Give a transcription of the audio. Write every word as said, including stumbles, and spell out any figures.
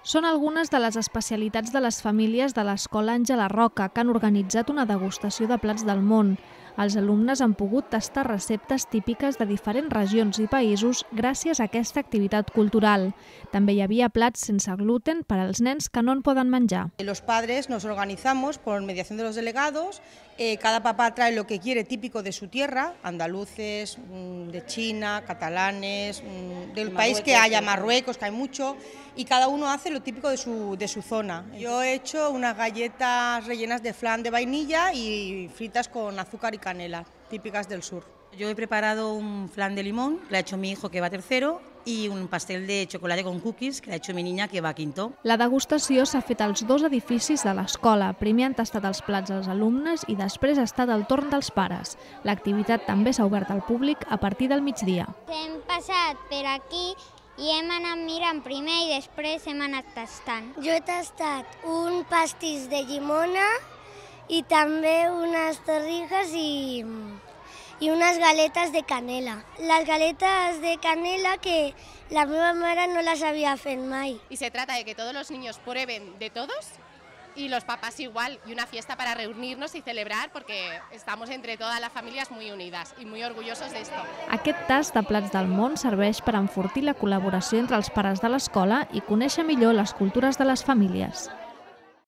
Són algunes de les especialitats de les famílies de l'Escola Àngela Roca, que han organitzat una degustació de plats del món. Els alumnes han pogut tastar receptes típiques de diferents regions i països gràcies a aquesta activitat cultural. També hi havia plats sense gluten per als nens que no en poden menjar. Los padres nos organizamos por mediación de los delegados, eh, cada papá trae lo que quiere típico de su tierra, andaluces, de China, catalanes, del país que haya, Marruecos, que hay mucho, y cada uno hace lo típico de su, de su zona. Yo he hecho unas galletas rellenas de flan de vainilla y fritas con azúcar y canela, típicas del sur. Yo he preparado un flan de limón, que lo ha hecho mi hijo, que va tercero, i un pastel de xocolata con cookies, que l'ha hecho mi niña, que va quinto. La degustació s'ha fet als dos edificis de l'escola. Primer han tastat els plats als alumnes i després ha estat el torn dels pares. L'activitat també s'ha obert al públic a partir del migdia. Hem passat per aquí i hem anat mirant primer i després hem anat tastant. Jo he tastat un pastís de llimona i també unes torrijas i... y unas galetas de canela. Las galetas de canela que la meva mare no las había fet mai. Y se trata de que todos los niños prueben de todos y los papás igual, y una fiesta para reunirnos y celebrar porque estamos entre todas las familias muy unidas y muy orgullosos de esto. Aquest tast de plats del món serveix per enfortir la col·laboració entre els pares de l'escola i conèixer millor les cultures de les famílies.